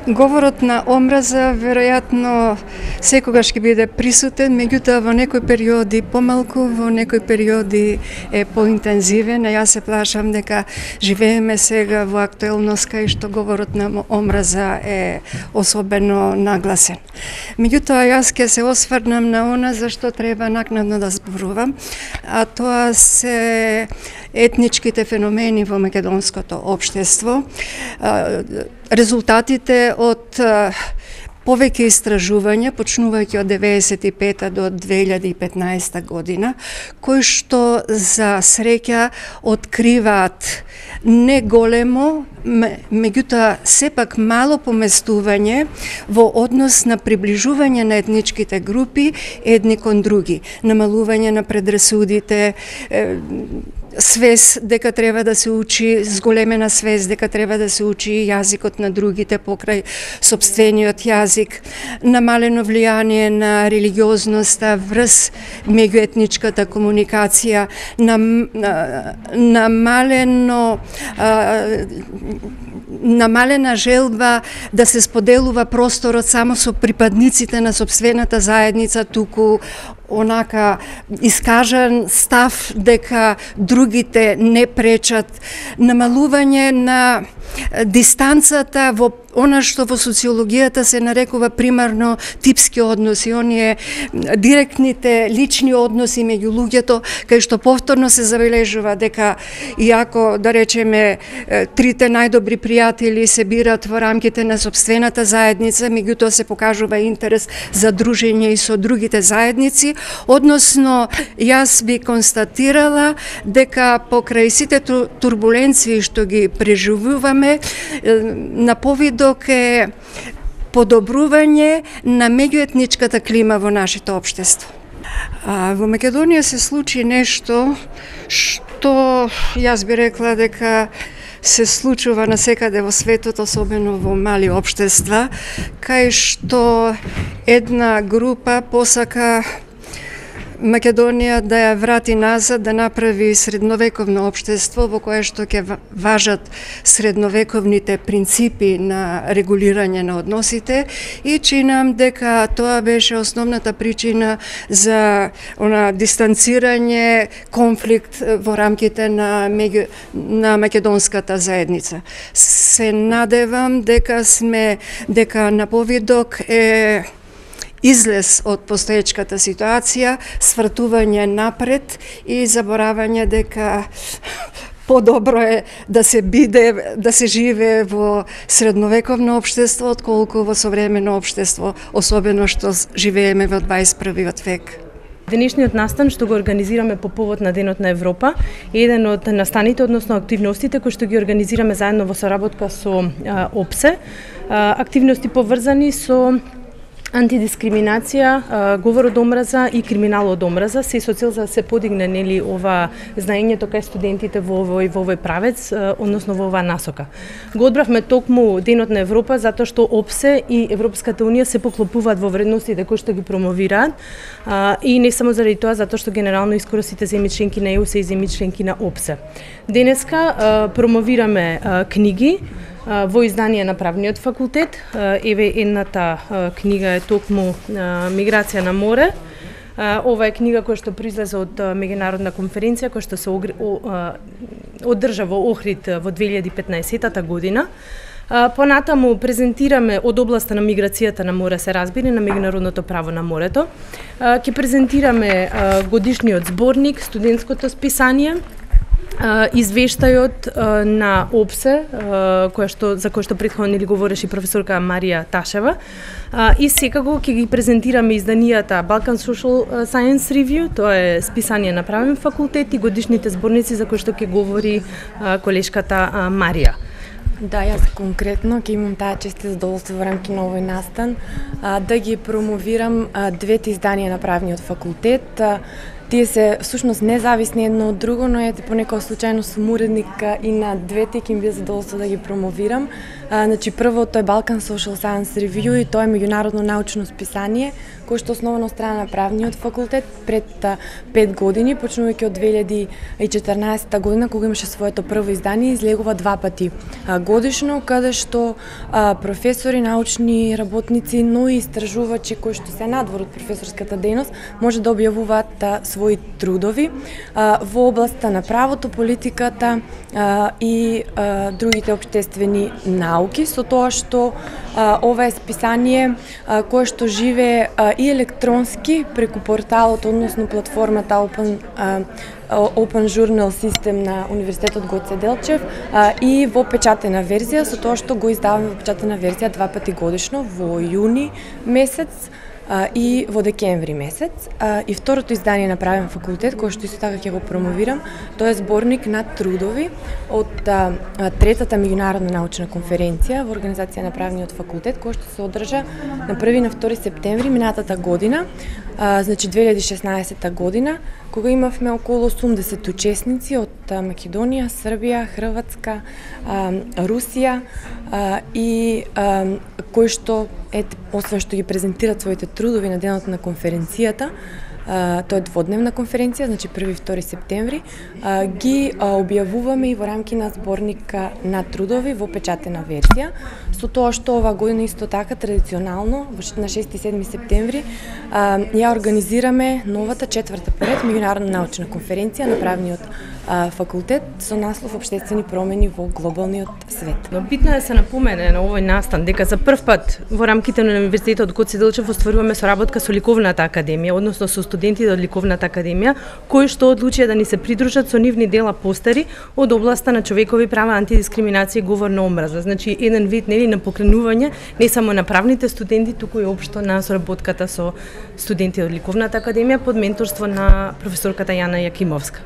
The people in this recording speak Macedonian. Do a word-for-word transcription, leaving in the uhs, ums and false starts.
Говорот на омраза веројатно секогаш ќе биде присутен, меѓутоа во некои периоди помалку, во некои периоди е поинтензивен, а јас се плашам дека живееме сега во актуелност кај што говорот на омраза е особено нагласен. Меѓутоа јас ќе се осврнам на она за што треба накнадно да зборувам, а тоа се етничките феномени во македонското општество, резултатите од повеќе истражувања, почнувајќи од деветдесет и пета до две илјади и петнаесета година, кои што за среќа откриваат не големо, меѓутоа сепак мало поместување во однос на приближување на етничките групи едни кон други, намалување на предрасудите, свес дека треба да се учи, зголемена свес дека треба да се учи јазикот на другите покрај сопствениот јазик, намалено влијание на религиозноста врз меѓуетничката комуникација, нам, намалено намалена желба да се споделува просторот само со припадниците на сопствената заедница, туку онака искажан став дека другите не пречат, намалување на дистанцата во она што во социологијата се нарекува примарно типски односи, оние директните лични односи меѓу луѓето, кај што повторно се забележува дека иако да речеме трите најдобри пријатели се бират во рамките на сопствената заедница, меѓутоа се покажува интерес за дружење и со другите заедници, односно јас би констатирала дека покрај сите турбуленции што ги преживуваме, на повидок е подобрување на меѓуетничката клима во нашето општество. А, во Македонија се случи нешто што јас би рекла дека се случува насекаде во светот, особено во мали општества, кај што една група посака Македонија да ја врати назад, да направи средновековно општество во кое што ќе важат средновековните принципи на регулирање на односите, и чинам дека тоа беше основната причина за она дистанцирање, конфликт во рамките на меѓу на македонската заедница. Се надевам дека сме дека на повидок е излез од постоечката ситуација, свртување напред и заборавање дека подобро е да се биде, да се живее во средновековно општество отколку во современо општество, особено што живееме во дваесет и првиот век. Денешниот настан што го организираме по повод на Денот на Европа е еден од настаните, односно активностите кои што ги организираме заедно во соработка со ОПСЕ, активности поврзани со антидискриминација, говор од омраза и криминал од омраза, се со цел за да се подигне нели ова знаењето кај студентите во овој во овој правец, односно во оваа насока. Го одбравме токму Денот на Европа затоа што ОПСЕ и Европската унија се поклопуваат во вредностите кои што ги промовираат, и не само заради тоа, затоа што генерално искоро сите земји членки на ЕУ се и земји членки на ОПСЕ. Денеска промовираме книги во издание на Правниот факултет. Еве едната книга е токму Миграција на море. Ова е книга која што произлезе од меѓународна конференција која што се одржа во Охрид во две илјади и петнаесета година. Понатаму презентираме од областа на миграцијата на море, се разбира, на меѓународното право на морето. Ќе презентираме годишниот зборник, студентското списание, извештајот на ОПСЕ, која што, за кој што претходно ни говореше професорка Марија Ташева, и секако ќе ги презентираме изданијата Balkan Social Science Review, тоа е списание на Правен факултет, и годишните зборници за кои што ќе говори колешката Марија. Да, јас конкретно ќе имам таа чест и задоволство во рамки на овој настан да ги промовирам двете изданија на Правниот факултет. тие се всушност независни едно од друго, но ете понекогаш случајно сум уредник и на двете, ќе ми биде задоволство да ги промовирам. А, значи прво тој е Balkan Social Science Review и тоа е меѓународно научно списание кој што основано од страна на правниот факултет пред пет години, почнувајќи од две илјади и четрнаесетта година кога имаше своето прво издание, излегува два пати а, годишно, каде што а, професори, научни работници, но и истражувачи кои што се надвор од професорската дејност може да објавуваат а, свои трудови а, во областа на правото, политиката а, и а, другите општествени науки, со тоа што а, ова е списание а, кое што живее а, и електронски преку порталот, односно платформата Open, а, Open Journal System на Универзитетот Гоце Делчев а, и во печатена верзија, со тоа што го издаваме во печатена верзија два пати годишно, во јуни месец а, и во декември месец. А, и второто издание на правен факултет, кој што исто така ќе го промовирам, тоа е зборник на трудови од а, третата меѓународна научна конференција во организација на правниот факултет, кој што се одржа на први и на втори септември минатата година, а, значи две илјади и шеснаесетта година, кога имавме околу осумдесет учесници од Македонија, Србија, Хрватска, а, Русија а, и а, кои што ет, освен што ги презентираат своите трудови на денот на конференцијата, а, тоа е дводневна конференција, значи први и втори септември, а, ги а, објавуваме и во рамки на зборника на трудови во печатена верзија, со тоа што ова година исто така традиционално на шести и седми септември а, ја организираме новата четврта поред меѓународна научна конференција на правниот а, факултет со наслов Обштествени промени во глобалниот свет. Но битно е да се напомене на овој настан дека за прв пат во рамките на Универзитетот Гоце Делчев остваруваме соработка со Ликовната академија, односно со студентите од Ликовната академија, кои што одлучија да ни се придружат со нивни дела постери од областа на човекови права, антидискриминација и говор на омраза. Значи еден вид нели на покренување не само на правните студенти, туку и општо на соработката со студенти од Ликовната академија под менторство на професорката Јана Јакимовска.